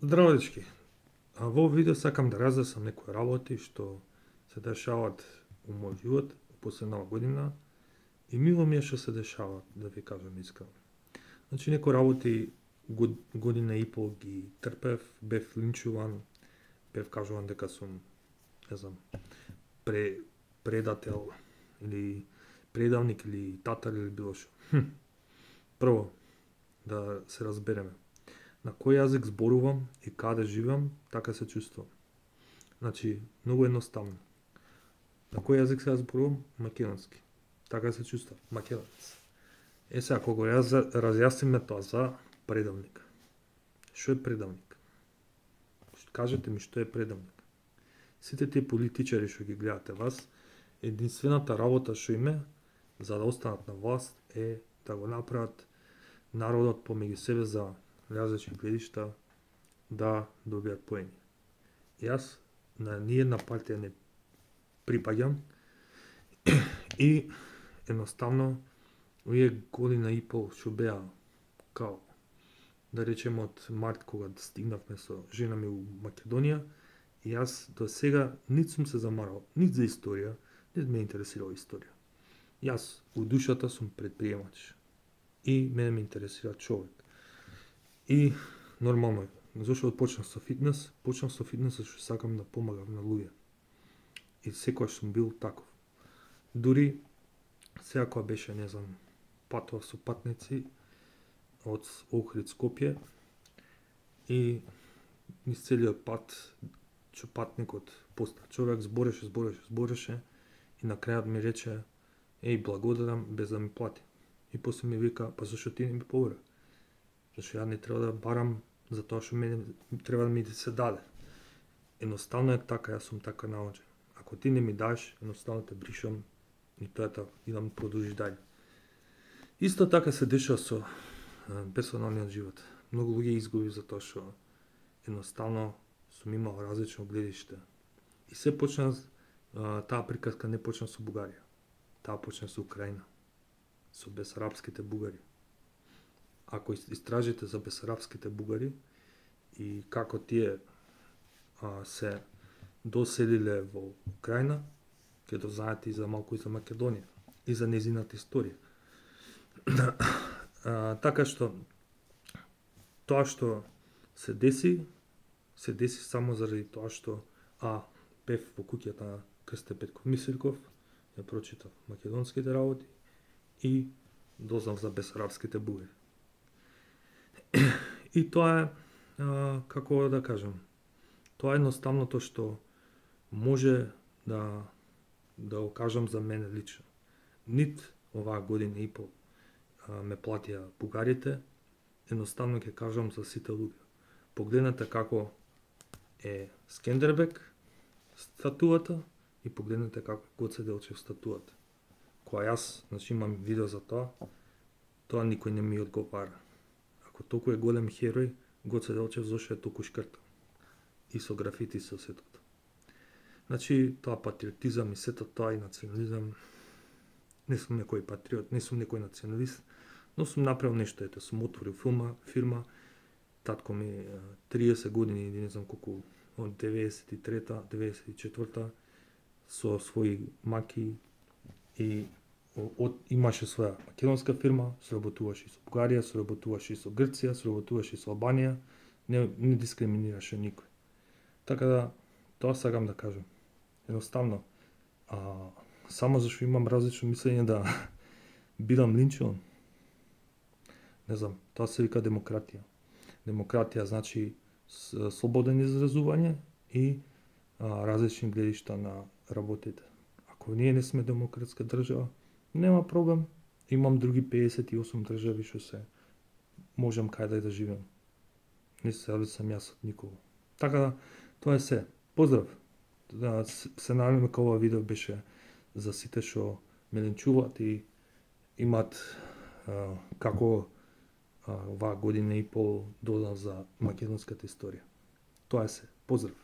Здраво, дечки. Во видео сакам да разјаснам некои работи што се дешаваат у мојот живот после нова година и мило ми е што се дешаваат, да ви кажам искрено. Значи, некои работи година и пол ги трпев, бев линчуван, бев кажуван дека сум, не знам, предател или предавник или татар или било што. Прво, да се разбереме. На кој јазик зборувам и каде живеам, така се чувствувам. Значи, многу едноставно. На кој јазик се зборувам? Македонски. Така се чувствувам. Македонец. Сега, кога разјасниме тоа за предавник. Што е предавник? Кажете ми што е предавник. Сите тие политичари што ги гледате вас, единствената работа што име за да останат на власт е да го направат народот помеѓу себе за различни гледишта да добијат поени. Јас на ниједна партија не припаѓам и едноставно овие година и пол што беа као да речеме од март кога стигнавме со жена ми у Македонија, и јас до сега нит сум се замарал нит за историја, нит ме интересирала историја. Јас у душата сум предприемач и мене ме интересира човек. И нормално е. Зошто почнав со фитнес? Почнав со фитнес што сакам да помагам на луѓе. И секогаш сум бил таков. Дури сега кога беше, не знам, патував со патници од Охрид Скопје и низ целиот пат што патникот поста човек збореше и на крајот ми рече: "Еј, благодарам без да ми плати." И после ми вика: "Па зашто ти не ми побара?" Зашто ја не треба да барам за тоа што мене треба да ми се даде. Едноставно е така, јас сум така научен. Ако ти не ми даш, едноставно те бришам и тоа е така, и да му продолжиш дајде. Исто така се дешава со персоналниот живот. Многу луѓе изгуби за тоа што едноставно сум имал различно гледиште. И се почна, таа приказка не почна со Бугарија. Таа почна со Украина, со бесарабските бугари. Ако истражите за бесарабските бугари и како тие се доселиле во Украина, ќе дознаете и за малку и за Македонија и за незината историја. Така што тоа што се деси само заради тоа што бев во куќата на Крсте Петков Мисирков, ја прочитав македонските работи и дознав за бесарабските бугари. И тоа е, како да кажам, тоа е едноставното што може да го кажам за мене лично. Нит оваа година и пол ме платија бугарите, едноставно ќе кажам за сите луѓе. Погледнете како е Скендербек статуата и погледнете како е Гоце Делчев статуата. Кога јас, значи, имам видео за тоа никој не ми одговара. Ако толку е голем херој, Гоце Делчев зошто е толку шкртан? И со графити со сето. Значи, тоа патриотизам и сето тоа и национализам, не сум некој патриот, не сум некој националист, но сум направил нешто, ете, сум отворил фирма, татко ми 30 години, не знам колку, од 93-та, 94-та, со своји маки и имаше своја македонска фирма, соработуваше и со Бугарија, соработуваше и со Грција, соработуваше и со Албанија, не дискриминираше никој. Така да, тоа сакам да кажам. Едноставно, само зашто имам различно мислење да бидам линчуван. Не знам, тоа се вика демократија. Демократија значи слободен изразување и различни гледишта на работите. Ако ние не сме демократска држава, нема проблем. Имам други 58 држави што се можам каде да живеам. Не се зависам јас од никого. Така да, тоа е се. Поздрав! Се надевам дека ова видео беше за сите што ме линчуваат и имат како оваа година и пол дознав за македонската историја. Тоа е се. Поздрав!